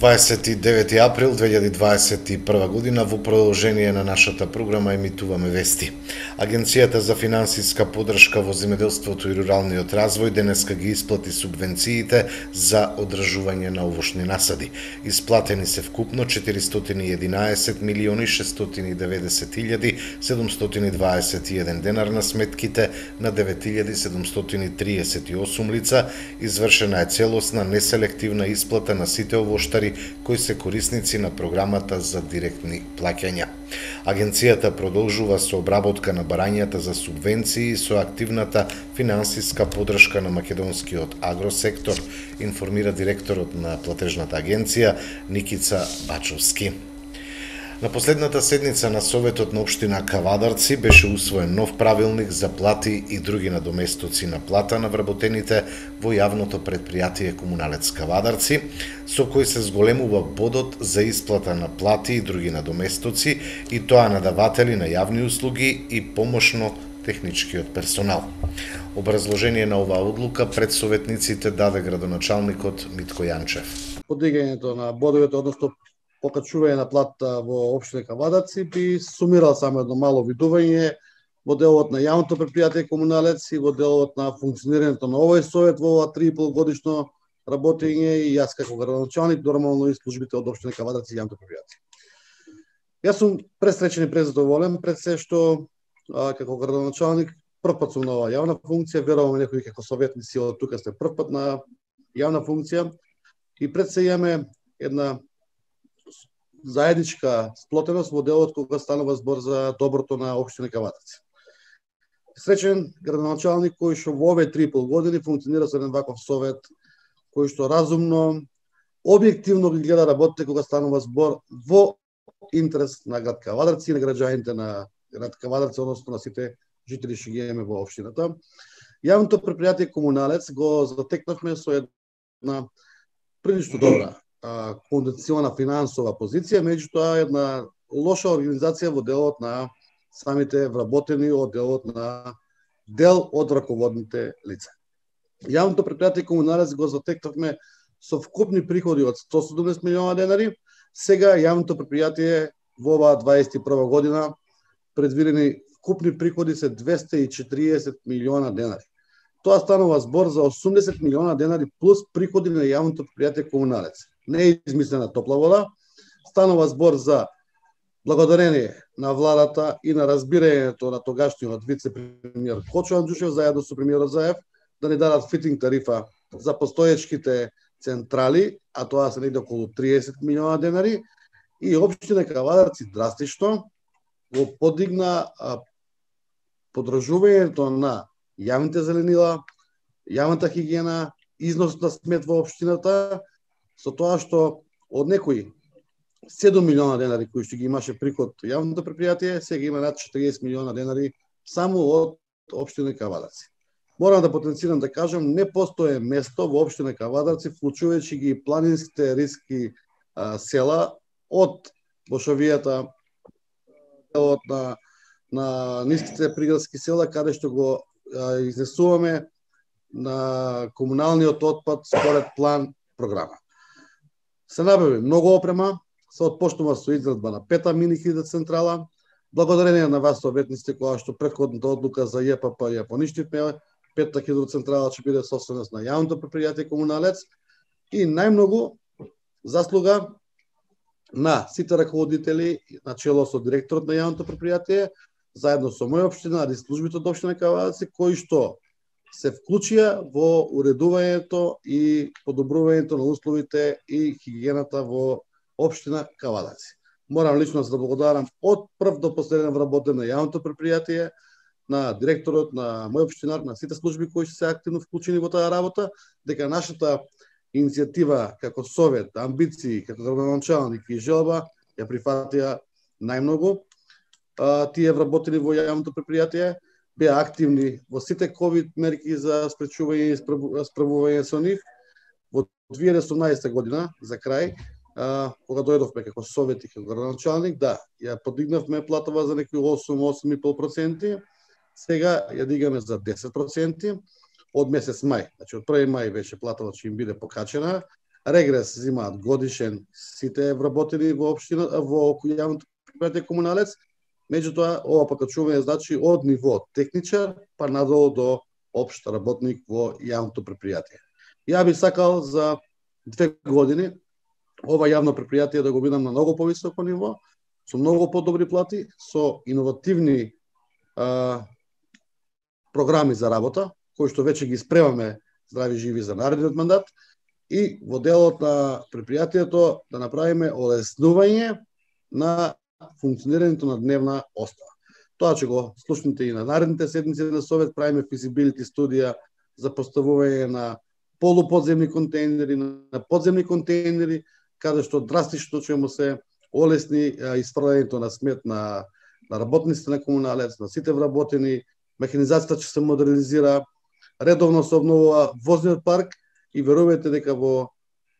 29 април 2021 година, во продолжение на нашата програма емитуваме вести. Агенцијата за финансиска поддршка во земјоделството и руралниот развој денеска ги исплати субвенциите за одржување на овошни насади. Исплатени се вкупно 411.690.721 денар на сметките на 9.738 лица. Извршена е целосна неселективна исплата на сите овоштари кои се корисници на програмата за директни плаќања. Агенцијата продолжува со обработка на барањата за субвенции со активната финансиска поддршка на македонскиот агросектор, информира директорот на платежната агенција Никица Бачовски. На последната седница на Советот на општина Кавадарци беше усвоен нов правилник за плати и други надоместоци на плата на вработените во јавното претпријатие Комуналец Кавадарци, со кој се зголемува бодот за исплата на плати и други надоместоци, и тоа на даватели на јавни услуги и помошно техничкиот персонал. Образложение на оваа одлука пред советниците даде градоначалникот Митко Јанчев. Подигањето на бодовете, односно покачување на плата во општина Кавадарци, би сумирал само едно мало видување во делот на јавното претпријатие Комуналец и во делот на функционирањето на овој совет во ова 3,5 годишно работење, и јас како градоначалник, нормално и службите од општина Кавадарци и јавното претпријатие. Јас сум пресречен и презадоволен пред се што како градоначалник првпат сум на оваа јавна функција, верувам некои како советници од тука сте првпат на јавна функција, и пред се имаме една заедничка сплотеност во делот кога станува збор за доброто на општина Кавадарци. Среќен градоначалник кој што во овие 3,5 години функционира со еден ваков совет, кој што разумно, објективно ги гледа работите кога станува збор во интерес на град Кавадарци и на граѓаните на град Кавадарци, односно на сите жители што ги имаме во општината. Јавното претпријатие Комуналец го затекнавме со една прилично добра кондиционна финансова позиција, меѓутоа една лоша организација во делот на самите вработени, од делот на дел од раководните лица. Јавното претпријатие Комуналец го затекнавме со вкупни приходи од 170 милиона денари. Сега јавното претпријатие во оваа 21 година предвидени вкупни приходи се 240 милиона денари. Тоа станува збор за 80 милиона денари плюс приходи на јавното претпријатие Комуналец. Не е измислена топла вода, станува збор за благодарение на владата и на разбирањето на тогашниот вице-премиер Кочо Анџушев заедно со премиерот Заев да ни дадат фитинг тарифа за постоечките централи, а тоа се негде околу 30 милиона денари, и општина Кавадарци драстично го подигна подржувањето на јавните зеленила, јавната хигиена, износ на смет во општината, со тоа што од некои 7 милиона денари кои што ги имаше приход јавното претпријатие, сега има над 40 милиона денари само од општина Кавадарци. Морам да потенцирам да кажам, не постои место во општина Кавадарци, вклучувајќи ги планинските риски села од Бошовијата, делот на ниските приградски села, каде што го изнесуваме на комуналниот отпад според план програма. Се набави многу опрема, се отпочнува со изградба на 5-та мини хидроцентрала. Благодарение на вас советниците, која што претходната одлука за ЈПП ја поништивме, 5-та хидроцентрала ќе биде собственост на јавното претпријатие Комуналец, и најмногу заслуга на сите раководители, начело со директорот на јавното претпријатие, заедно со моја општина и службите од општина Кавадарци, кои што се вклучија во уредувањето и подобрувањето на условите и хигиената во општина Кавадарци. Морам лично да благодарам од прв до последен вработен на јавното претпријатие, на директорот, на мој општинар, на сите служби кои се активно вклучени во таа работа, дека нашата иницијатива како совет, амбиции, како градоначалник и желба ја прифатија најмногу. Тие вработени во јавното претпријатие беа активни во сите ковид мерки за спречување и справување со нив. Во 2018 година, за крај, кога дојдовме како совет и како градоначалник, да, ја подигнавме платава за некои 8,5%, сега ја дигаме за 10% од месец мај. Значи, од 1 мај беше платава ќе им биде покачена, Регрес земаат годишен сите вработени во општина, во јавното предпријатие Комуналец. Меѓутоа, ова покачување значи од ниво техничар па надолу до општ работник во јавното предпријатие. Ја би сакал за 2 години ова јавно предпријатие да го видам на многу повисоко ниво, со многу подобри плати, со иновативни програми за работа, кои што веќе ги спремаме здрави живи за наредниот мандат, и во делот на предпријатието да направиме олеснување на функционирањето на дневна остава. Тоа ќе го слушнете и на наредните седмици на Совет, правиме физибилити студија за поставување на полуподземни контейнери, на подземни контейнери, каде што драстично ќе му се олесни испрлањето на смет на работниците на Комуналец, на сите вработени, механизацијата ќе се модернизира, редовно се обновува возниот парк и верувајте дека во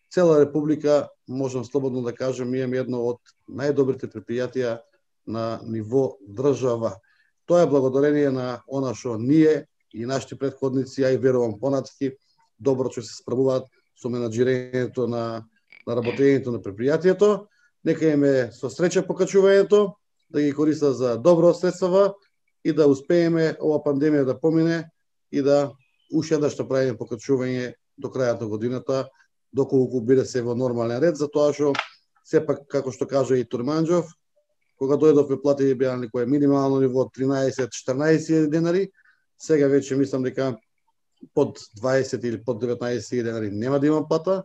цела Република, можам слободно да кажам, имаме едно од најдобрите предпријатија на ниво држава. Тоа е благодарение на она што ние и нашите претходници, ја и верувам понатаки, добро ќе се справуваат со менаџирањето на работењето на предпријатието. Нека име со среќа покачувањето, да ги користат за добро средства и да успееме ова пандемија да помине и да уште еднаш да правиме покачување до крајот на годината, доколку биде се во нормален ред, затоа што сепак, како што кажа и Турманџов, кога дојдовме плати беа на некое минимално ниво 13-14 денари, сега веќе мислам дека под 20 или под 19 денари нема да има плата,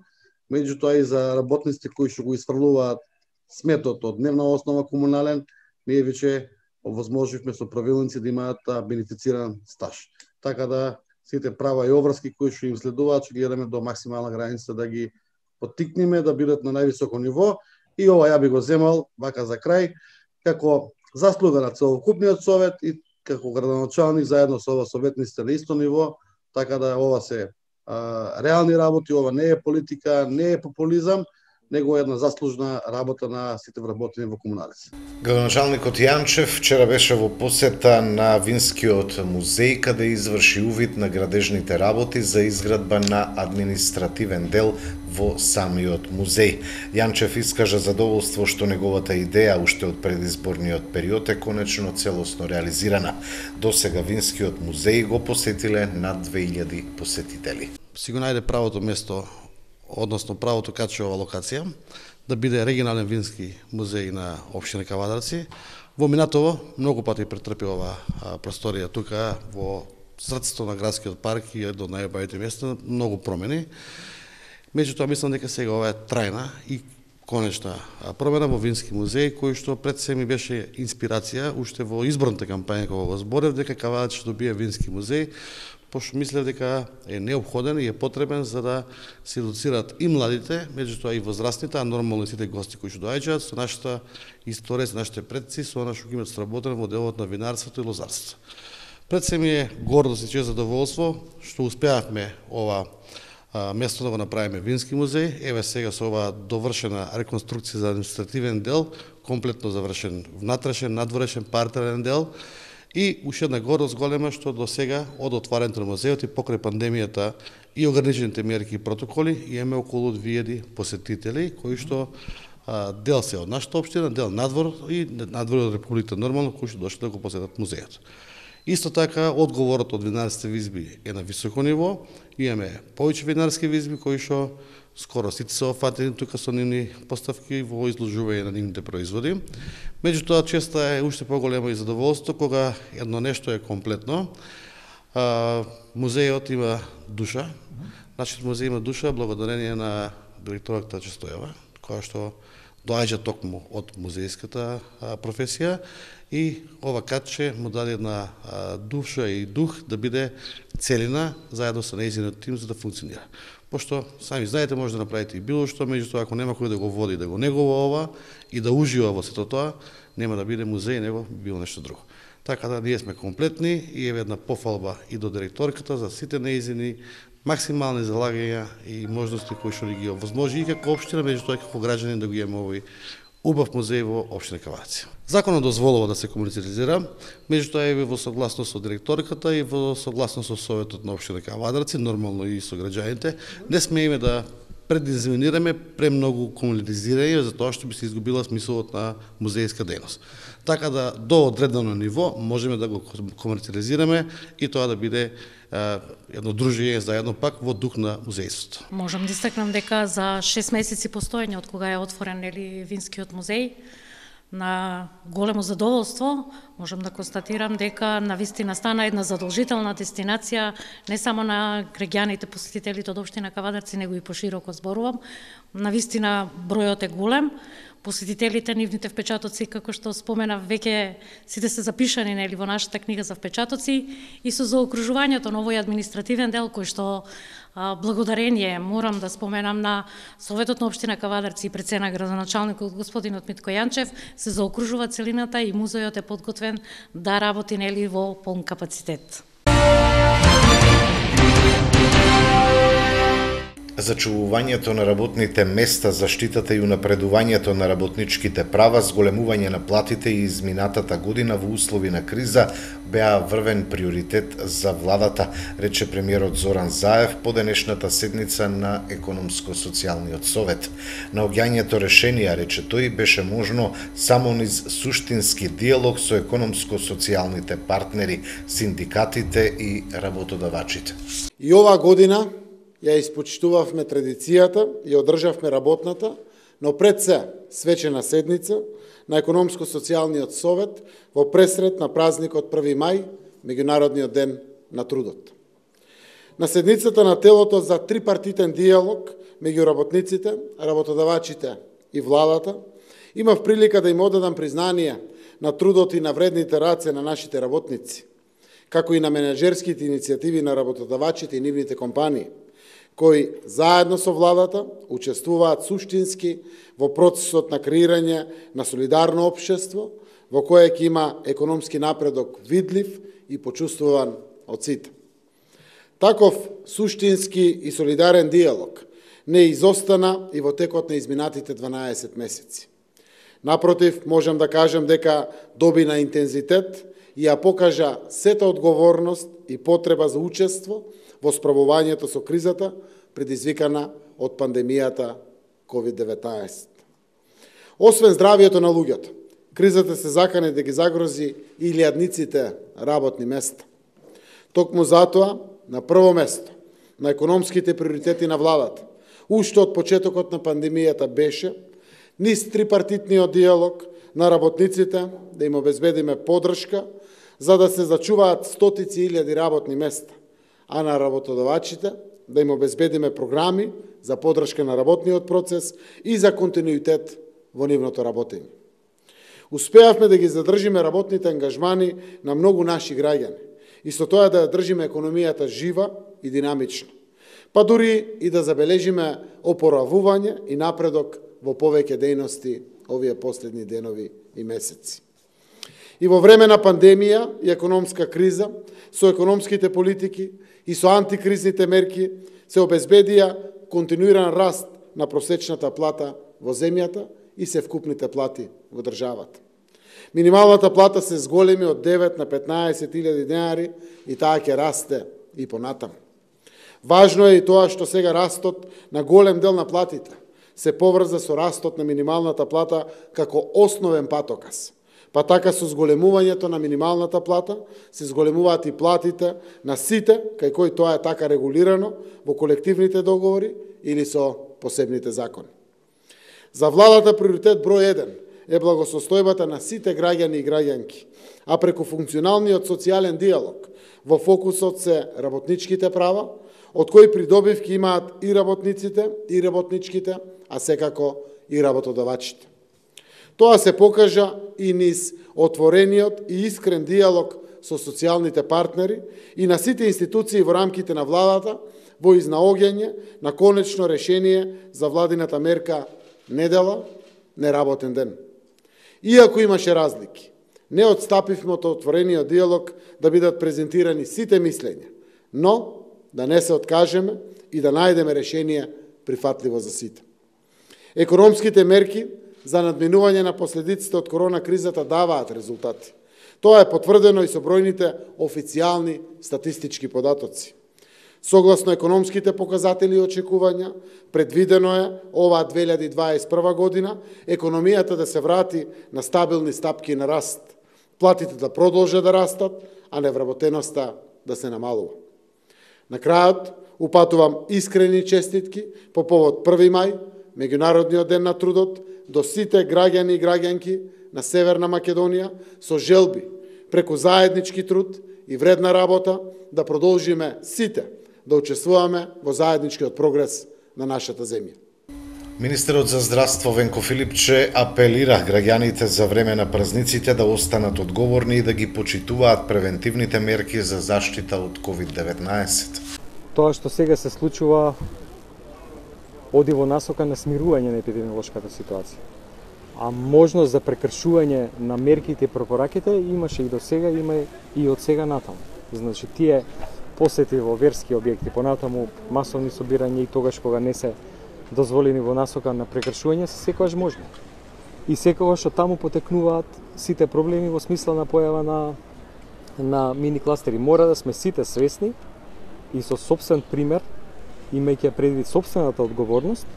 меѓутоа и за работниците кои што го испрлуваат сметот од дневна основа комунален, ние веќе овозможивме со правилници да имаат бенефициран стаж. Така да сите права и обврски кои што им следуваат, ќе гледаме до максимална граница да ги поттикнеме да бидат на највисоко ниво. И ова ја би го земал вака за крај како заслуга на целокупниот совет и како градоначалник заедно со ова советниците на исто ниво, така да ова се реални работи, ова не е политика, не е популизам, него е една заслужна работа на сите вработени во Комуналец. Градоначалникот Јанчев вчера беше во посета на Винскиот музеј, каде изврши увид на градежните работи за изградба на административен дел во самиот музеј. Јанчев искажа задоволство што неговата идеја уште од предизборниот период е конечно целосно реализирана. Досега Винскиот музеј го посетиле над 2000 посетители. Си го најде правото место, односно правото качува локација, да биде регионален вински музеј на општина Кавадарци. Во минатово многу пати претрпи ова просторија тука во срцето на градскиот парк и едно од најубавите места, многу промени. Меѓутоа мислам дека сега ова е трајна и конечна промена во Вински музеј, кој што пред се ми беше инспирација уште во изборната кампања кога го зборев дека Кавадарци ќе добие Вински музеј, пошто мислев дека е неопходен и е потребен за да се едуцираат и младите, меѓутоа и возрастните, а нормално и сите гости кои што доаѓаат со нашата историја, со нашите предци, со она што ги имаат сработено во делот на винарството и лозарството. Пред се ми е гордост и чест задоволство што успеавме ова место да го направиме Вински музеј. Еве сега со ова довршена реконструкција за административен дел, комплетно завршен внатрешен, надворешен, партерен дел. И уште една гордост голема што до сега од отварањето на музејот и покрај пандемијата и ограничените мерки и протоколи имаме околу 2000 посетители кои што дел се од нашата општина, дел надвор и надвор од Републиката нормално кои што дошли да го посетат музејот. Исто така одговорот од винарските визби е на високо ниво. Имаме повеќе винарски визби кои што скоро сите се офатени тука со нивни поставки во изложување на нивните производи. Меѓутоа, често е уште поголемо и задоволство кога едно нешто е комплетно. Музејот има душа. Нашиот музеј има душа благодарение на директорката Честојева, која што доаѓа токму од музејската професија и ова катче му даде една душа и дух да биде целина заедно со нејзиниот тим за да функционира. Пошто сами знаете, може да направите и било што, меѓутоа ако нема кој да го води, да го негува ова и да ужива во сето тоа, нема да биде музеј, него било нешто друго. Така да ние сме комплетни и еве една пофалба и до директорката за сите нејзини максимални залагања и можности кои што ги овозможи и како општина, меѓутоа и како граѓани да го имаме овој убав музеј во општина Кавадарци. Законот дозволува да се комуницира, меѓутоа е во согласност со директорката и во согласност со советот на општина Кавадарци, нормално и со граѓаните. Не смееме да предизминираме премногу комунитизирање, затоа што би се изгубила смислот на музејска дејност. Така да до одредено ниво можеме да го комерциализираме и тоа да биде едно дружење заедно пак во дух на музејството. Можам да истакнам дека за 6 месеци постоење од кога е отворен Винскиот музеј, на големо задоволство можам да констатирам дека навистина стана една задолжителна дестинација не само на граѓаните посетителите од општина Кавадарци, него и пошироко зборувам. Навистина бројот е голем. Посетителите, нивните впечатоци, како што спомена, веќе сите се запишани во нашата книга за впечатоци и со заокружувањето на овој административен дел кој што благодарение морам да споменам на Советот на општина Кавадарци и пред градоначалникот господинот Митко Јанчев, се заокружува целината и музејот е подготвен да работи во полн капацитет. Зачувувањето на работните места, заштитата и унапредувањето на работничките права, зголемување на платите и изминатата година во услови на криза беа врвен приоритет за владата, рече премиерот Зоран Заев по денешната седница на Економско-социјалниот совет. Наоѓањето решенија, рече тој, беше можно само низ суштински диалог со економско-социјалните партнери, синдикатите и работодавачите. И оваа година ја испочитувавме традицијата и одржавме работната, но пред се свечена седница на Економско-социјалниот совет во пресред на празникот 1 мај, Меѓународниот ден на трудот. На седницата на телото за трипартитен диалог меѓу работниците, работодавачите и владата, имав прилика да им одадам признание на трудот и на вредните раце на нашите работници, како и на менеджерските иницијативи на работодавачите и нивните компании, кои заедно со владата учествуваат суштински во процесот на креирање на солидарно општество, во кое ќе има економски напредок видлив и почувствуван од сите. Таков суштински и солидарен диалог не изостана и во текот на изминатите 12 месеци. Напротив, можам да кажам дека доби на интензитет и ја покажа сета одговорност и потреба за учество во справувањето со кризата предизвикана од пандемијата COVID-19. Освен здравието на луѓето, кризата се закани да ги загрози и илјадниците работни места. Токму затоа, на прво место, на економските приоритети на владата, уште од почетокот на пандемијата беше низ трипартитниот диалог на работниците да им обезбедиме поддршка за да се зачуваат стотици илјади работни места, а на работодавачите да им обезбедиме програми за поддршка на работниот процес и за континуитет во нивното работење. Успеавме да ги задржиме работните ангажмани на многу наши граѓани и со тоа да држиме економијата жива и динамична, па дури и да забележиме опоравување и напредок во повеќе дејности овие последни денови и месеци. И во време на пандемија и економска криза, со економските политики и со антикризните мерки се обезбедија континуиран раст на просечната плата во земјата и севкупните плати во државата. Минималната плата се зголеми од 9 на 15.000 денари и таа ќе расте и понатаму. Важно е и тоа што сега растот на голем дел на платите се поврза со растот на минималната плата како основен патоказ. Па така со зголемувањето на минималната плата се зголемуваат и платите на сите, кај кои тоа е така регулирано во колективните договори или со посебните закони. За владата приоритет број 1 е благосостојбата на сите граѓани и граѓанки, а преку функционалниот социјален диалог во фокусот се работничките права, од кои придобивки имаат и работниците, и работничките, а секако и работодавачите. Тоа се покажа и низ отворениот и искрен диалог со социјалните партнери и на сите институции во рамките на владата во изнаоѓање на конечно решение за владината мерка недела, неработен ден. Иако имаше разлики, не отстапивме од отворениот диалог да бидат презентирани сите мислења, но да не се откажеме и да најдеме решение прифатливо за сите. Економските мерки за надминување на последиците од корона кризата даваат резултати. Тоа е потврдено и со бројните официјални статистички податоци. Согласно економските показатели и очекувања, предвидено е оваа 2021 година економијата да се врати на стабилни стапки на раст, платите да продолжат да растат, а невработеноста да се намалува. На крајот, упатувам искрени честитки по повод 1 мај, Меѓународниот ден на трудот, до сите граѓани и граѓанки на Северна Македонија со желби, преку заеднички труд и вредна работа, да продолжиме сите да учествуваме во заедничкиот прогрес на нашата земја. Министерот за здравство Венко Филипче апелира граѓаните за време на празниците да останат одговорни и да ги почитуваат превентивните мерки за заштита од COVID-19. Тоа што сега се случува оди во насока на смирување на епидемиолошката ситуација. А можност за прекршување на мерките и препораките имаше и до сега, има и од сега натаму. Значи, тие посети во верски објекти, понатаму масовни собирања и тогаш кога не се дозволени во насока на прекршување, се секогаш можни. И секогаш од таму потекнуваат сите проблеми во смисла на појава на мини кластери. Мора да сме сите свесни и со сопствен пример, имајќи предвид сопствената одговорност,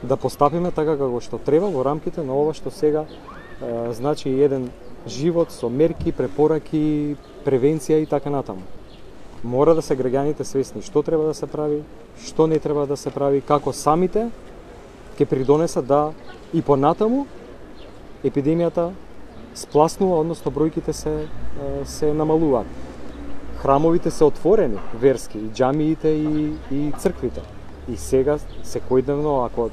да постапиме така како што треба во рамките на ова што сега значи еден живот со мерки, препораки, превенција и така натаму. Мора да се граѓаните свесни што треба да се прави, што не треба да се прави, како самите ќе придонесат да и понатаму епидемијата спласнува, односно бројките се намалуваат. Храмовите се отворени, верски, и џамиите и црквите. И сега, секојдневно, ако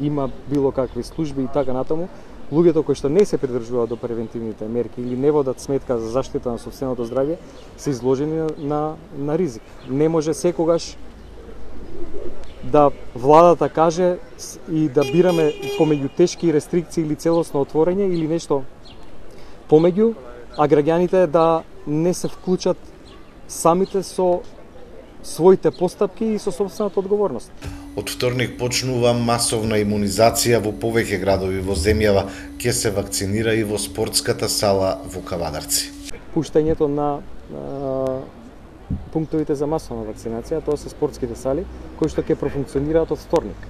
има било какви служби и така натаму, луѓето кои што не се придржуваат до превентивните мерки или не водат сметка за заштита на сопственото здравје, се изложени на ризик. Не може секогаш да владата каже и да бираме помеѓу тешки рестрикции или целосно отворање или нешто помеѓу, а граѓаните да не се вклучат самите со своите постапки и со собствената одговорност. Од вторник почнува масовна имунизација во повеќе градови во земјава, ќе се вакцинира и во спортската сала во Кавадарци. Пуштањето на пунктовите за масовна вакцинација, тоа се спортските сали, кои што ќе профункционираат од вторник.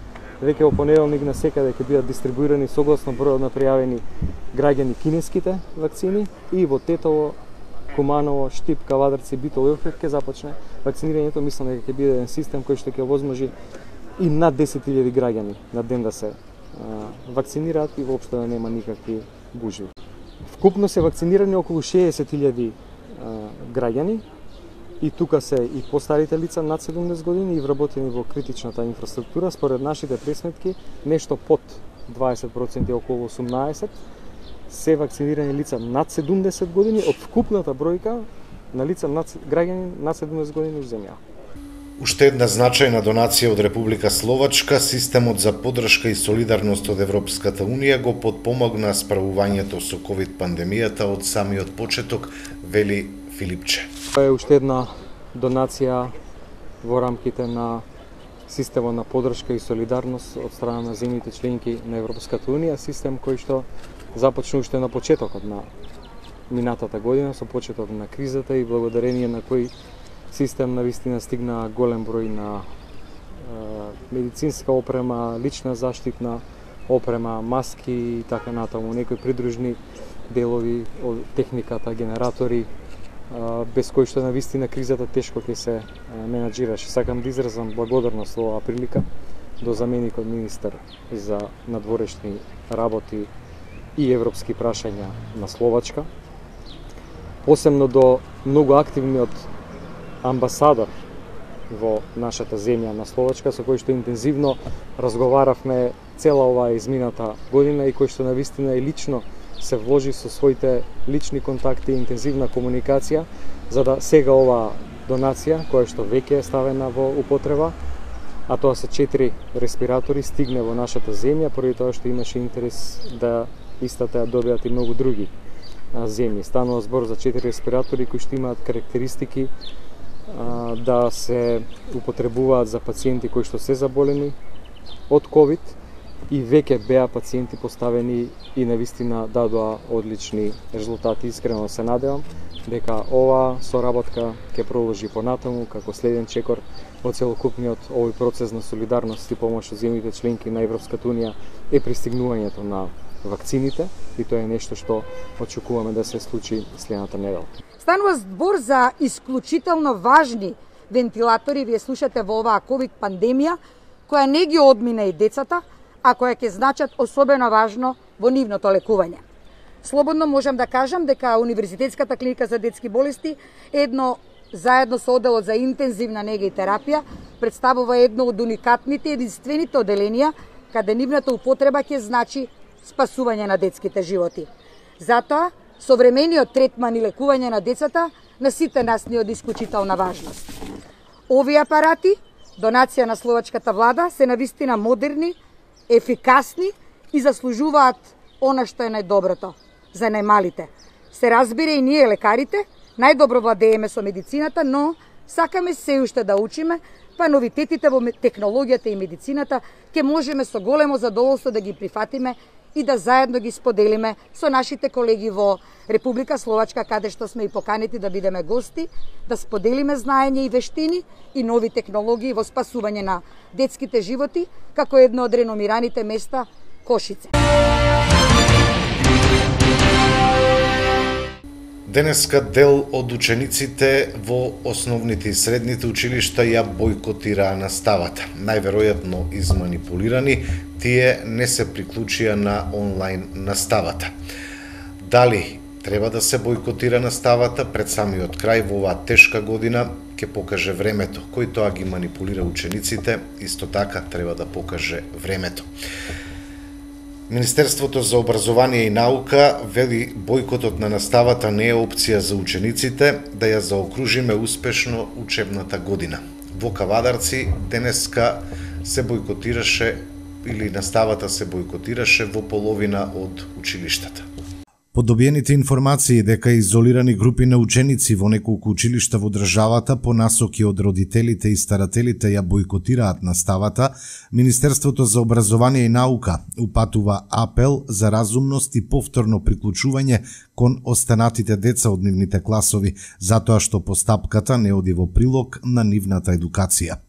Веќе во понеделник на секаде ќе бидат дистрибуирани согласно бројот на пријавени граѓани кинеските вакцини и во Тетово, Куманово, Штип, Кавадарци, Битол и Охрид ќе започне вакцинирањето. Мислам дека ќе биде еден систем кој што ќе возможи и над 10.000 граѓани на ден да се вакцинираат и воопшто да нема никакви гужви. Вкупно се вакцинирани околу 60.000 граѓани и тука се и постарите лица над 70 години и вработени во критичната инфраструктура. Според нашите пресметки, нешто под 20%, околу 18%, се вакцинирани лица над 70 години од вкупната бројка на лица граѓани над 70 години во земја. Уште една значајна донација од Република Словачка, системот за поддршка и солидарност од Европската Унија го потпомогна справувањето со ковид пандемијата од самиот почеток, вели Филипче. Тоа е уште една донација во рамките на системот на поддршка и солидарност од страна на земјите членки на Европската Унија, систем кој што започна уште на почетокот на минатата година, со почеток на кризата и благодарение на кој систем навистина стигна голем број на медицинска опрема, лична заштитна опрема, маски и така натаму, некои придружни делови од техниката, генератори, без кои што навистина кризата тешко ќе се менаџираше. Сакам да изразам благодарност во оваа прилика до заменикот министер за надворешни работи и европски прашања на Словачка, посебно до многу активниот амбасадор во нашата земја на Словачка, со кој што интензивно разговаравме цела оваа измината година и кој што навистина и лично се вложи со своите лични контакти и интензивна комуникација, за да сега оваа донација, која што веќе е ставена во употреба, а тоа се 4 респиратори, стигне во нашата земја, поради тоа што имаше интерес да истата ја добијат и многу други земји. Станува збор за 4 респиратори кои што имаат карактеристики да се употребуваат за пациенти кои што се заболени од ковид и веќе беа пациенти поставени и навистина дадоа одлични резултати. Искрено се надевам дека ова соработка ќе продолжи понатаму како следен чекор во целокупниот овој процес на солидарност и помош од земјите членки на Европската унија е пристигнувањето на вакцините и тоа е нешто што очекуваме да се случи следната недела. Станува збор за исклучително важни вентилатори, вие слушате во оваа ковид пандемија, која не ги одмина и децата, а која ќе значат особено важно во нивното лекување. Слободно можам да кажам дека Универзитетската клиника за детски болести заедно со оделот за интензивна нега и терапија представува едно од уникатните и единствените оделенија каде нивната употреба ќе значи спасување на детските животи. Затоа, современиот третман и лекување на децата на сите нас ни од исклучителна важност. Овие апарати, донација на словачката влада, се навистина модерни, ефикасни и заслужуваат она што е најдоброто за најмалите. Се разбира и ние лекарите, најдобро владееме со медицината, но сакаме се уште да учиме, па новитетите во технологијата и медицината ќе можеме со големо задоволство да ги прифатиме и да заедно ги споделиме со нашите колеги во Република Словачка, каде што сме и поканети да бидеме гости, да споделиме знаење и вештини и нови технологии во спасување на детските животи, како едно од реномираните места Кошице. Денеска дел од учениците во основните и средните училишта ја бойкотираа наставата. Најверојатно изманипулирани, тие не се приклучија на онлайн наставата. Дали треба да се бойкотира наставата пред самиот крај во оваа тешка година, ќе покаже времето. Кој тоа ги манипулира учениците, исто така треба да покаже времето. Министерството за образование и наука вели бојкотот на наставата не е опција за учениците да ја заокружиме успешно учебната година. Во Кавадарци денеска се бојкотираше или наставата се бојкотираше во половина од училиштата. По добиените информации дека изолирани групи на ученици во неколку училишта во државата по насоки од родителите и старателите ја бойкотираат наставата, Министерството за образование и наука упатува апел за разумност и повторно приклучување кон останатите деца од нивните класови, затоа што постапката не оди во прилог на нивната едукација.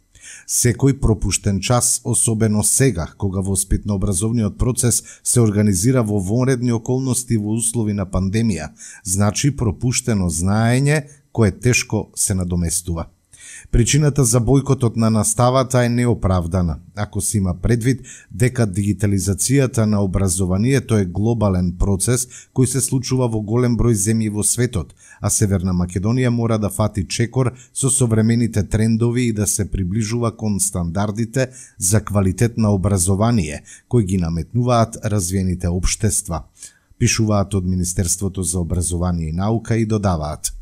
Секој пропуштен час, особено сега, кога воспитно-образовниот процес се организира во вонредни околности во услови на пандемија, значи пропуштено знаење кое тешко се надоместува. Причината за бојкотот на наставата е неоправдана, ако се има предвид дека дигитализацијата на образованието е глобален процес кој се случува во голем број земји во светот, а Северна Македонија мора да фати чекор со современите трендови и да се приближува кон стандардите за квалитет на образование кои ги наметнуваат развиените општества, пишуваат од Министерството за образование и наука и додаваат: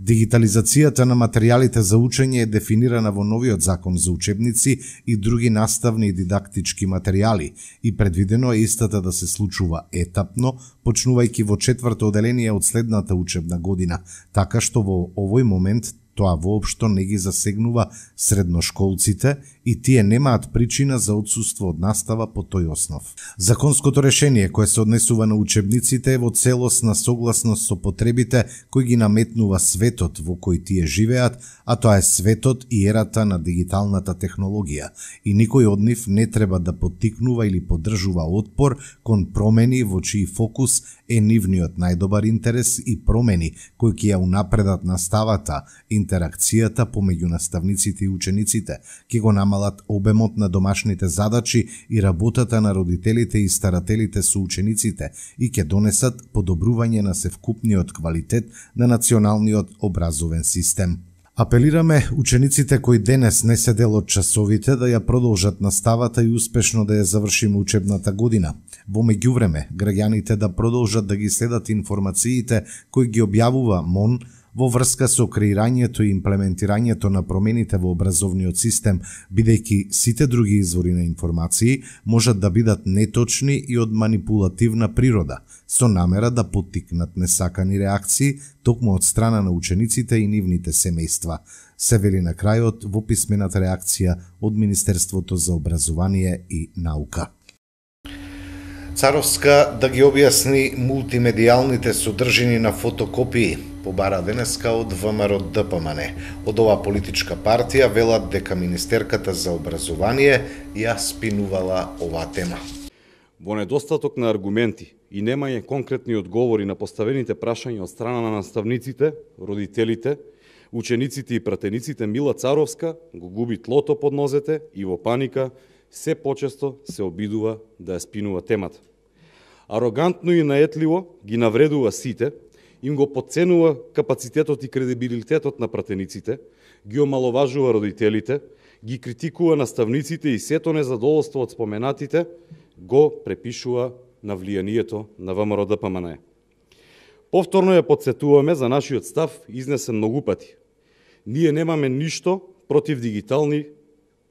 дигитализацијата на материјалите за учење е дефинирана во новиот закон за учебници и други наставни и дидактички материјали и предвидено е истата да се случува етапно, почнувајќи во 4-то оделение од следната учебна година, така што во овој момент тоа воопшто не ги засегнува средношколците и тие немаат причина за отсуство од настава по тој основ. Законското решение кое се однесува на учебниците е во целосна согласност со потребите кои ги наметнува светот во кој тие живеат, а тоа е светот и ерата на дигиталната технологија и никој од нив не треба да поттикнува или поддржува отпор кон промени во чиј фокус е нивниот најдобар интерес и промени кои ќе ја унапредат наставата, интеракцијата помеѓу наставниците и учениците, ќе го намалат обемот на домашните задачи и работата на родителите и старателите со учениците и ќе донесат подобрување на севкупниот квалитет на националниот образовен систем. Апелираме учениците кои денес не се дел од часовите да ја продолжат наставата и успешно да ја завршиме учебната година. Во меѓувреме, граѓаните да продолжат да ги следат информациите кои ги објавува МОН во врска со креирањето и имплементирањето на промените во образовниот систем, бидејќи сите други извори на информации можат да бидат неточни и од манипулативна природа, со намера да поттикнат несакани реакции токму од страна на учениците и нивните семејства, се вели на крајот во писмената реакција од Министерството за образование и наука. Царовска да ги објасни мултимедијалните содржини на фотокопии. побара денеска од ВМРО ДПМН. Од оваа политичка партија велат дека Министерката за образование ја спинувала оваа тема. Во недостаток на аргументи и немање конкретни одговори на поставените прашања од страна на наставниците, родителите, учениците и пратениците, Мила Царовска го губи тлото под нозете и во паника се почесто се обидува да ја спинува темата. Арогантно и наетливо ги навредува сите, им го подценува капацитетот и кредибилитетот на пратениците, ги омаловажува родителите, ги критикува наставниците и сето незадоволство од споменатите го препишува на влијанието на ВМРО ДПМН. Повторно ја подсетуваме за нашиот став изнесен многу пати. Ние немаме ништо против дигитални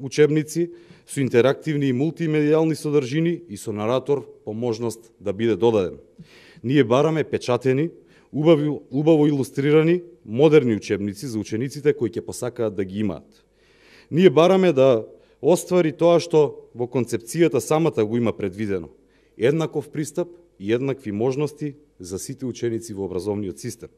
учебници со интерактивни и мултимедијални содржини и со наратор по можност да биде додаден. Ние бараме печатени, убаво илустрирани, модерни учебници за учениците кои ќе посакаат да ги имаат. Ние бараме да оствари тоа што во концепцијата самата го има предвидено. Еднаков пристап и еднакви можности за сите ученици во образовниот систем.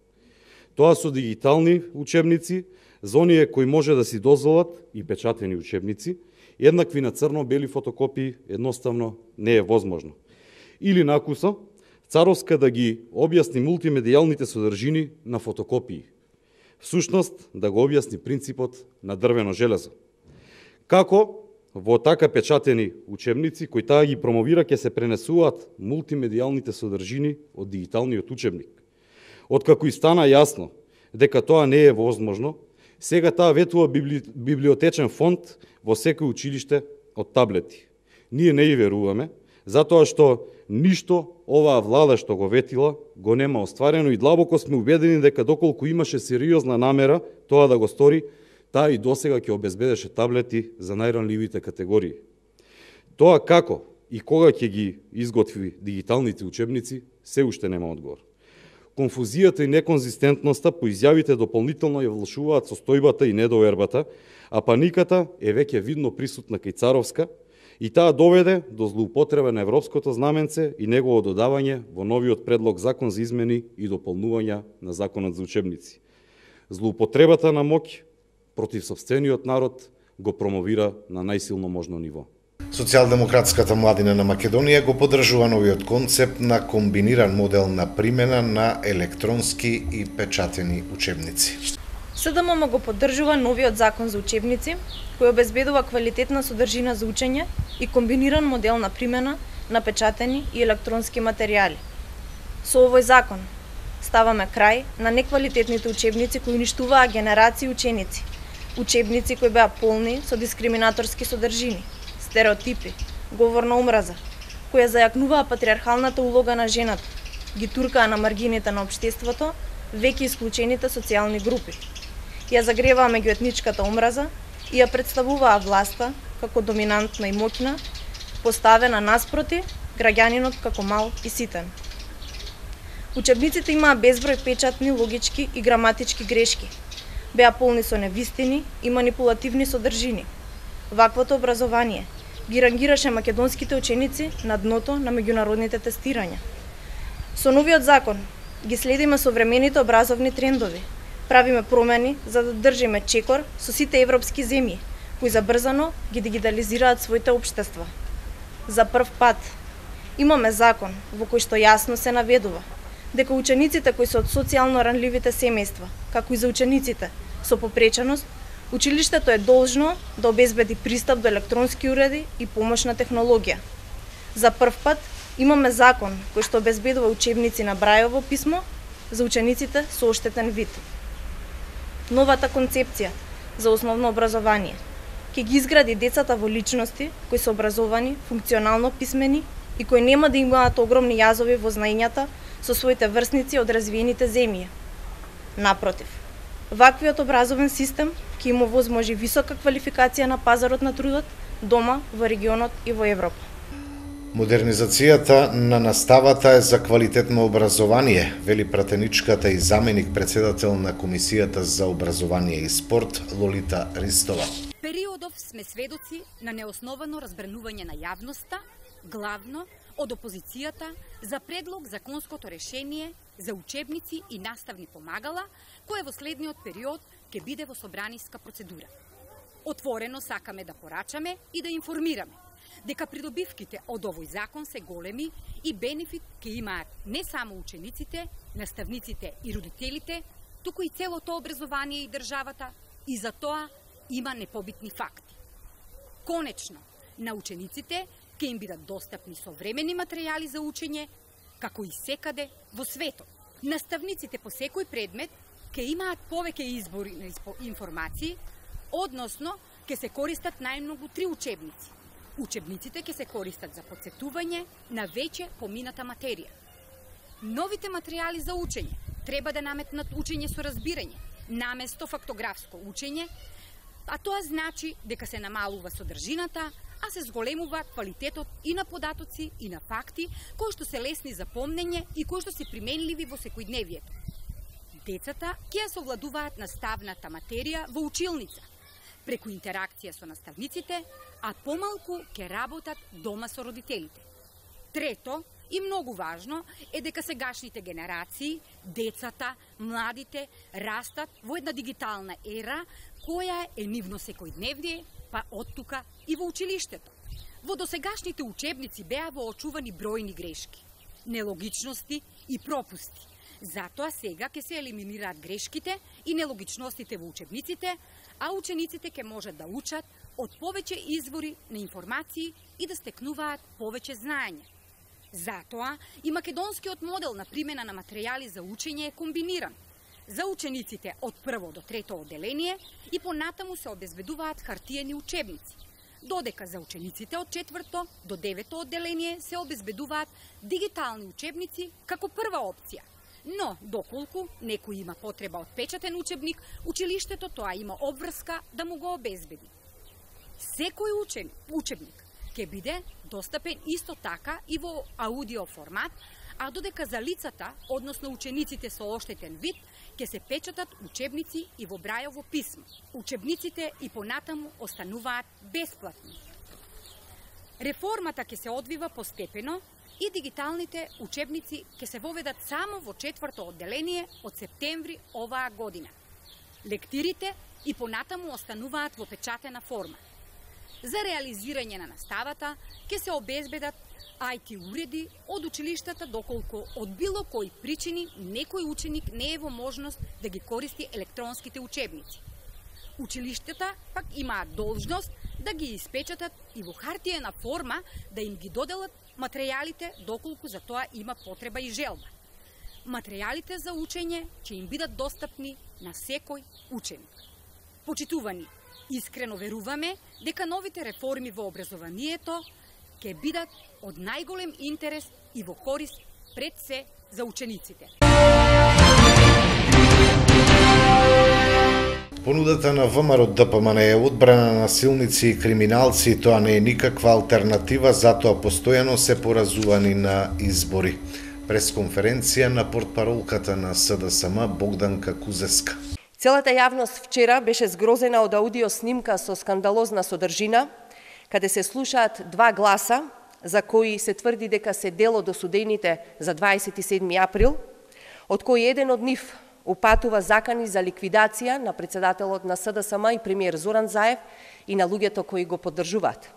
Тоа со дигитални учебници, за оние кои може да си дозволат и печатени учебници, еднакви на црно-бели фотокопии едноставно не е возможно. Или накусо, Царовска да ги објасни мултимедијалните содржини на фотокопии. Всушност, да го објасни принципот на дрвено железо. Како во така печатени учебници, кои таа ги промовира, ќе се пренесуваат мултимедијалните содржини од дигиталниот учебник. Откако и стана јасно дека тоа не е возможно, сега таа ветува библиотечен фонд во секој училиште од таблети. Ние не ја веруваме, затоа што ништо оваа влада што го ветила го нема остварено и длабоко сме убедени дека доколку имаше сериозна намера тоа да го стори, таа и досега ќе обезбедеше таблети за најранливите категории. Тоа како и кога ќе ги изготви дигиталните учебници, се уште нема одговор. Конфузијата и неконзистентноста по изјавите дополнително ја влошуваат состојбата и недовербата, а паниката е веќе видно присутна кај Царовска и таа доведе до злоупотреба на европското знаменце и негово додавање во новиот предлог закон за измени и дополнувања на законот за учебници. Злоупотребата на моќ против сопствениот народ го промовира на најсилно можно ниво. Социјалдемократската младина на Македонија го поддржува новиот концепт на комбиниран модел на примена на електронски и печатени учебници. СДММ го поддржува новиот закон за учебници, кој обезбедува квалитетна содржина за учење и комбиниран модел на примена на печатени и електронски материјали. Со овој закон ставаме крај на неквалитетните учебници кои уништуваа генерации ученици, учебници кои беа полни со дискриминаторски содржини, стереотипи, говор на омраза, кои зајакнуваа патриархалната улога на жената, ги туркаа на маргините на општеството, веќе исклучените социјални групи. Ја загреваа меѓуетничката омраза и ја представуваа власта како доминантна и моќна, поставена наспроти граѓанинот како мал и ситен. Учебниците имаа безброј печатни, логички и граматички грешки. Беа полни со невистини и манипулативни содржини. Ваквото образование ги рангираше македонските ученици на дното на меѓународните тестирања. Со новиот закон ги следиме современите образовни трендови, правиме промени за да држиме чекор со сите европски земји, кои забрзано ги дигитализираат своите општества. За прв пат имаме закон во кој што јасно се наведува дека учениците кои се од социјално ранливите семејства, како и за учениците со попреченост, училиштето е должно да обезбеди пристап до електронски уреди и помошна технологија. За прв пат имаме закон кој што обезбедува учебници на Брајово писмо за учениците со оштетен вид. Новата концепција за основно образование ќе ги изгради децата во личности кои се образовани, функционално писмени и кои нема да имаат огромни јазови во знаењата со своите врсници од развиените земји. Напротив, ваквиот образовен систем ќе им овозможи висока квалификација на пазарот на трудот дома, во регионот и во Европа. Модернизацијата на наставата е за квалитетно образование, вели пратеничката и заменик председател на Комисијата за образование и спорт Лолита Ристова. Периодов сме сведоци на неосновано разбранување на јавноста, главно од опозицијата за предлог законското решение за учебници и наставни помагала, кое во следниот период ќе биде во собраниска процедура. Отворено сакаме да порачаме и да информираме дека придобивките од овој закон се големи и бенефит ќе имаат не само учениците, наставниците и родителите, туку и целото образование и државата, и за тоа има непобитни факти. Конечно, на учениците ќе им бидат достапни современи материјали за учење, како и секаде во светот. Наставниците по секој предмет ќе имаат повеќе избори на информации, односно ќе се користат најмногу 3 учебници. Учебниците ќе се користат за потсетување на веќе помината материја. Новите материјали за учење треба да наметнат учење со разбирање, наместо фактографско учење, а тоа значи дека се намалува содржината, а се зголемува квалитетот и на податоци и на факти, кои што се лесни за помнење и кои што се применливи во секојдневието. Децата ќе ја совладуваат наставната материја во училница, преку интеракција со наставниците, а помалку ќе работат дома со родителите. Трето, и многу важно, е дека сегашните генерации, децата, младите, растат во една дигитална ера, која е нивно секојдневие, па оттука и во училиштето. Во досегашните учебници беа воочувани бројни грешки, нелогичности и пропусти. Затоа сега ќе се елиминираат грешките и нелогичностите во учебниците, а учениците ќе можат да учат од повеќе извори на информации и да стекнуваат повеќе знаење. Затоа и македонскиот модел на примена на материјали за учење е комбиниран. За учениците од прво до трето одделение и понатаму се обезбедуваат хартиени учебници, додека за учениците од четврто до девето одделение се обезбедуваат дигитални учебници како прва опција. Но, доколку некој има потреба од печатен учебник, училиштето тоа има обврска да му го обезбеди. Секој учебник ќе биде достапен исто така и во аудио формат, а додека за лицата, односно учениците со оштетен вид, ќе се печатат учебници и во брајово писмо. Учебниците и понатаму остануваат бесплатни. Реформата ќе се одвива постепено и дигиталните учебници ќе се воведат само во четврто одделение од септември оваа година. Лектирите и понатаму остануваат во печатена форма. За реализирање на наставата ќе се обезбедат IT уреди од училиштата, доколку од било кои причини некој ученик не е во можност да ги користи електронските учебници. Училиштата пак имаат должност да ги испечатат и во хартиена форма да им ги доделат материјалите, доколку за тоа има потреба и желба. Материјалите за учење ќе им бидат достапни на секој ученик. Почитувани, искрено веруваме дека новите реформи во образованието ќе бидат од најголем интерес и во корист пред се за учениците. Понудата на ВМРО-ДПМН е одбрана на насилници и криминалци, тоа не е никаква алтернатива, затоа постојано се поразувани на избори. Пресконференција на портпаролката на СДСМ Богданка Кузеска. Целата јавност вчера беше згрозена од аудио снимка со скандалозна содржина, каде се слушаат 2 гласа, за кои се тврди дека се дел од осудените за 27 април, од кој еден од нив упатува закани за ликвидација на председателот на СДСМ и премиер Зоран Заев и на луѓето кои го поддржуваат.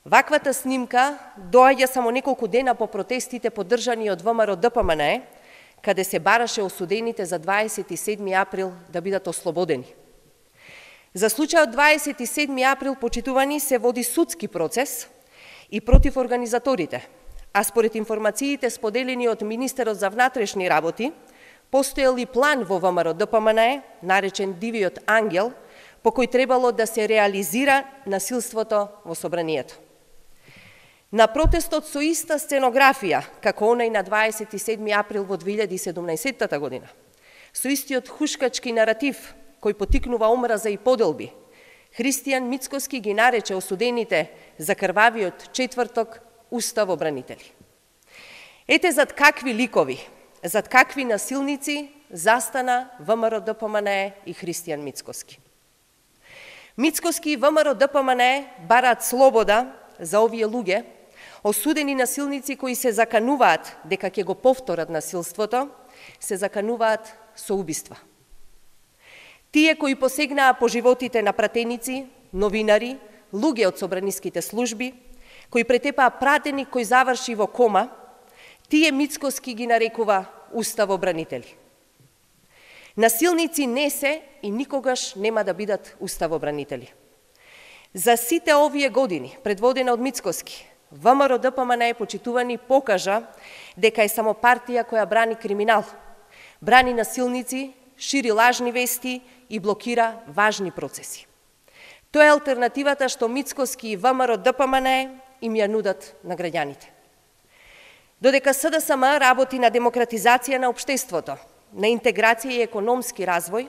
Ваквата снимка доаѓа само неколку дена по протестите поддржани од ВМРО-ДПМН, каде се бараше осудените за 27 април да бидат ослободени. За случајот 27 април, почитувани, се води судски процес и против организаторите, а според информациите споделени од министерот за внатрешни работи, постоел и план во ВМРО-ДПМН, наречен Дивиот ангел, по кој требало да се реализира насилството во собранието. На протестот со иста сценографија, како онај на 27 април во 2017 година, со истиот хушкачки наратив, кој потикнува омраза и поделби, Христијан Мицкоски ги нарече осудените за крвавиот четврток уставобранители. Ете зад какви ликови, зад какви насилници застана ВМРО-ДПМН и Христијан Мицкоски. Мицкоски и ВМРО-ДПМН бараат слобода за овие луѓе, Осудени насилници кои се закануваат дека ќе го повторат насилството, се закануваат со убиства. Тие кои посегнаа по животите на пратеници, новинари, луѓе од собраниските служби, кои претепаа пратеник кој заврши во кома, тие Мицкоски ги нарекува уставобранители. Насилници не се и никогаш нема да бидат уставобранители. За сите овие години, предводена од Мицкоски, ВМРО ДПМН почитувани покажа дека е само партија која брани криминал, брани насилници, шири лажни вести и блокира важни процеси. Тоа е алтернативата што Мицкоски и ВМРО ДПМН им ја нудат на граѓаните. Додека СДСМ работи на демократизација на општеството, на интеграција и економски развој,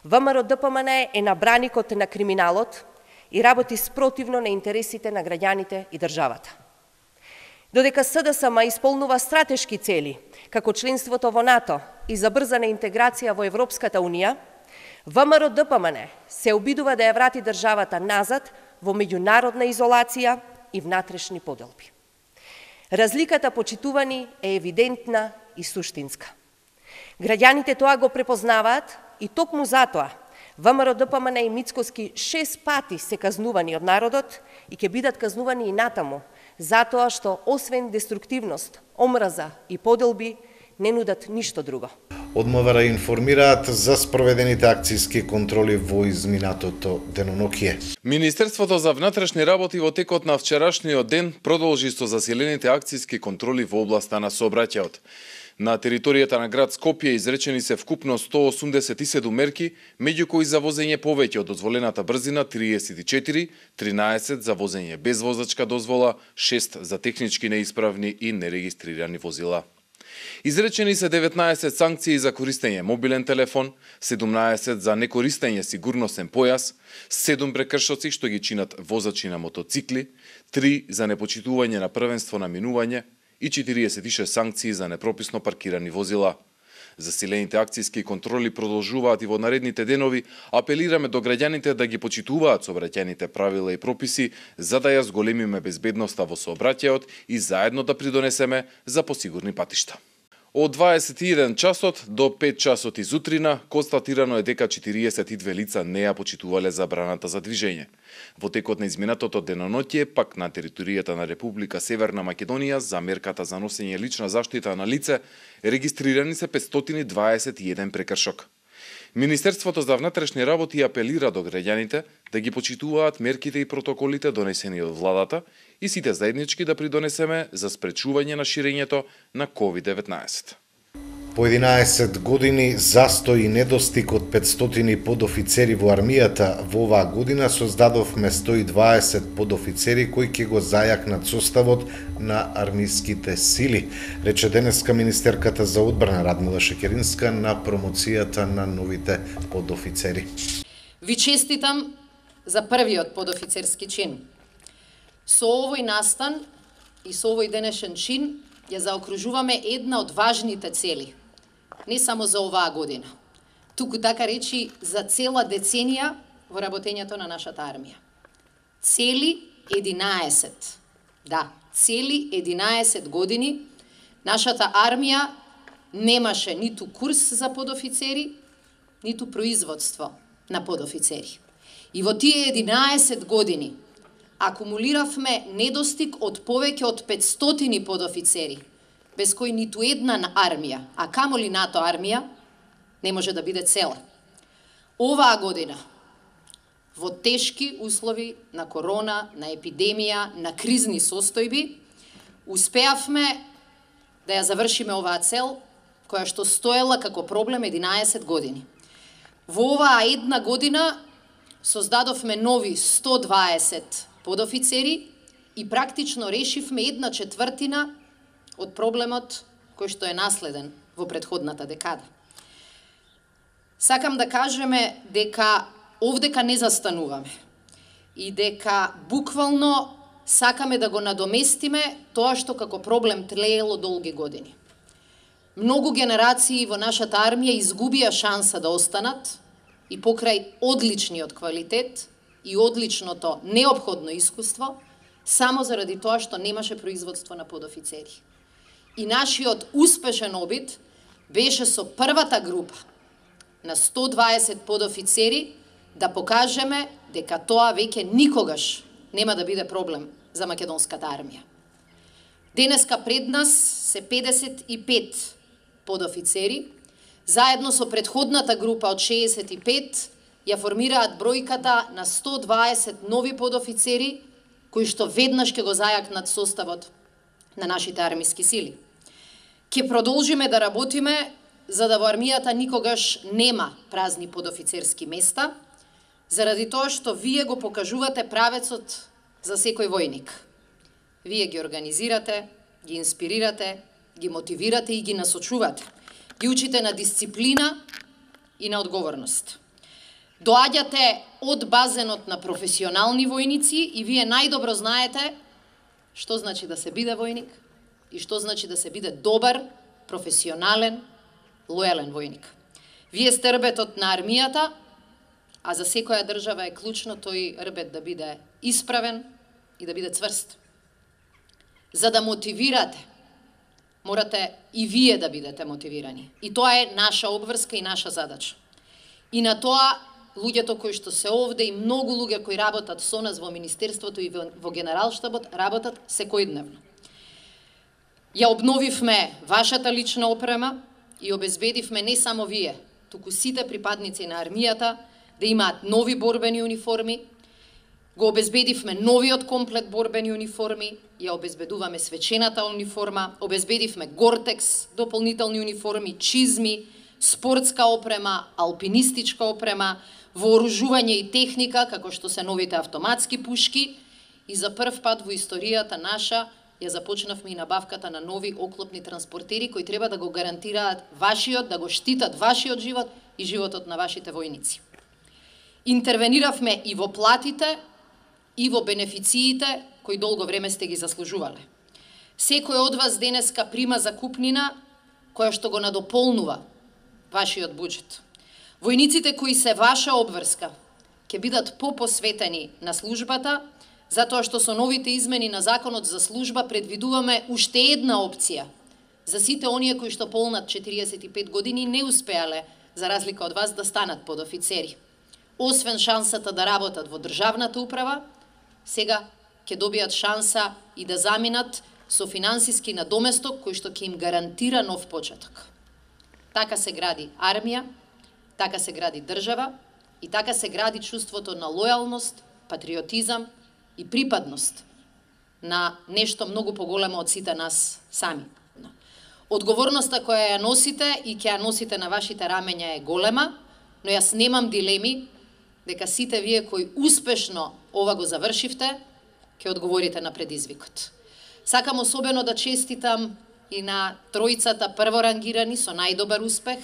ВМРО ДПМН е на браникот на криминалот и работи спротивно на интересите на граѓаните и државата. Додека СДСМ исполнува стратешки цели, како членството во НАТО и забрзана интеграција во Европската Унија, ВМРО ДПМН се обидува да ја врати државата назад во меѓународна изолација и внатрешни поделби. Разликата, почитувани, е евидентна и суштинска. Граѓаните тоа го препознаваат и токму затоа ВМРО ДПМН и Мицкоски 6 пати се казнувани од народот и ќе бидат казнувани и натаму, затоа што освен деструктивност, омраза и поделби, не нудат ништо друго. Од МВР информираат за спроведените акцијски контроли во изминатото денонокие. Министерството за внатрешни работи во текот на вчерашниот ден продолжи со засилените акцијски контроли во областа на сообраќајот. На територијата на град Скопје изречени се вкупно 187 мерки, меѓу кои за возење повеќе од дозволената брзина 34, 13 за возење без возачка дозвола, 6 за технички неисправни и нерегистрирани возила. Изречени се 19 санкции за користење мобилен телефон, 17 за некористење сигурносен појас, 7 прекршоци што ги чинат возачи на мотоцикли, 3 за непочитување на првенство на минување и 46 санкции за непрописно паркирани возила. Засилените акцијски контроли продолжуваат и во наредните денови. Апелираме до граѓаните да ги почитуваат сообраќајните правила и прописи за да ја зголемиме безбедноста во сообраќајот и заедно да придонесеме за посигурни патишта. Од 21 часот до 5 часот изутрина констатирано е дека 42 лица не ја почитувале забраната за движење. Во текот на изминатото деноноќе, пак на територијата на Република Северна Македонија, за мерката за носење лична заштита на лице, регистрирани се 521 прекршок. Министерството за внатрешни работи апелира до граѓаните да ги почитуваат мерките и протоколите донесени од владата и сите заеднички да придонесеме за спречување на ширењето на COVID-19. По 11 години застој и недостиг од 500 подофицери во армијата, во оваа година создадовме 120 подофицери кои ќе го зајакнат составот на армиските сили, рече денеска министерката за одбрана Радмила Шекеринска на промоцијата на новите подофицери. Ви честитам за првиот подофицерски чин. Со овој настан и со овој денешен чин ја заокружуваме една од важните цели, не само за оваа година, туку така речи за цела деценија во работењето на нашата армија. Цели 11, да, цели 11 години нашата армија немаше ниту курс за подофицери, ниту производство на подофицери. И во тие 11 години акумулиравме недостиг од повеќе од 500 подофицери, без кои ниту една армија, а камоли НАТО армија, не може да биде цела. Оваа година, во тешки услови на корона, на епидемија, на кризни состојби, успеавме да ја завршиме оваа цел, која што стоела како проблем 11 години. Во оваа една година создадовме нови 120 подофицери и практично решивме 1/4 од проблемот кој што е наследен во претходната декада. Сакам да кажеме дека овдека не застануваме и дека буквално сакаме да го надоместиме тоа што како проблем тлеело долги години. Многу генерации во нашата армија изгубија шанса да останат и покрај одличниот квалитет и одличното неопходно искуство, само заради тоа што немаше производство на подофицери. И нашиот успешен обид беше со првата група на 120 подофицери да покажеме дека тоа веќе никогаш нема да биде проблем за македонската армија. Денеска пред нас се 55 подофицери, заедно со претходната група од 65 ја формираат бројката на 120 нови подофицери кои што веднаш ќе го зајакнат составот на нашите армиски сили. Ќе продолжиме да работиме за да во армијата никогаш нема празни подофицерски места, заради тоа што вие го покажувате правецот за секој војник. Вие ги организирате, ги инспирирате, ги мотивирате и ги насочувате. Ги учите на дисциплина и на одговорност. Доаѓате од базенот на професионални војници и вие најдобро знаете што значи да се биде војник и што значи да се биде добар, професионален, лојален војник. Вие сте рбетот на армијата, а за секоја држава е клучно тој рбет да биде исправен и да биде цврст. За да мотивирате, морате и вие да бидете мотивирани. И тоа е наша обврска и наша задача. И на тоа луѓето кои што се овде и многу луѓе кои работат со нас во Министерството и во Генералштабот работат секојдневно. Ја обновивме вашата лична опрема и обезбедивме не само вие, туку сите припадници на армијата да имаат нови борбени униформи, го обезбедивме новиот комплет борбени униформи, ја обезбедуваме свечената униформа, обезбедивме Гортекс, дополнителни униформи, чизми, спортска опрема, алпинистичка опрема, вооружување и техника, како што се новите автоматски пушки, и за прв пат во историјата наша ја започнавме и набавката на нови оклопни транспортери кои треба да го гарантираат вашиот, да го штитат вашиот живот и животот на вашите војници. Интервениравме и во платите, и во бенефициите кои долго време сте ги заслужувале. Секој од вас денеска прима закупнина која што го надополнува вашиот буџет. Војниците кои се ваша обврска ќе бидат попосветени на службата, затоа што со новите измени на Законот за служба предвидуваме уште една опција за сите оние кои што полнат 45 години не успеале, за разлика од вас, да станат подофицери. Освен шансата да работат во државната управа, сега ќе добијат шанса и да заминат со финансиски надоместок кој што ќе им гарантира нов почеток. Така се гради армија, така се гради држава и така се гради чувството на лојалност, патриотизам и припадност на нешто многу поголемо од сите нас сами. Одговорноста која ја носите и ќе ја носите на вашите рамења е голема, но јас немам дилеми дека сите вие кои успешно ова го завршивте, ќе одговорите на предизвикот. Сакам особено да честитам и на тројцата прворангирани со најдобар успех,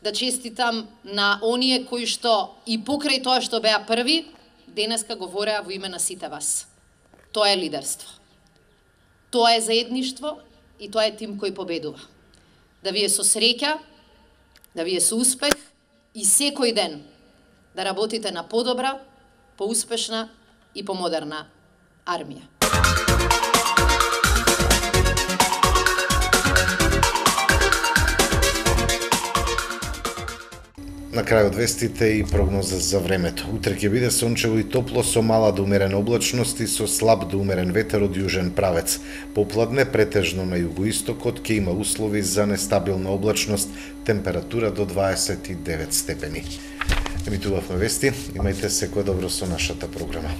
да честитам на оние кои што и покрај тоа што беа први, денеска говореа во име на сите вас. Тоа е лидерство. Тоа е заедништво и тоа е тим кој победува. Да ви е со среќа, да ви е со успех и секој ден да работите на подобра, поуспешна и помодерна армија. На крајот вестите и прогноза за времето. Утре ќе биде сончево и топло со мала до умерена облачност и со слаб до умерен ветер од јужен правец. Попладне претежно на југоистокот ќе има услови за нестабилна облачност, температура до 29 степени. Емитувавме вести, имајте секое добро со нашата програма.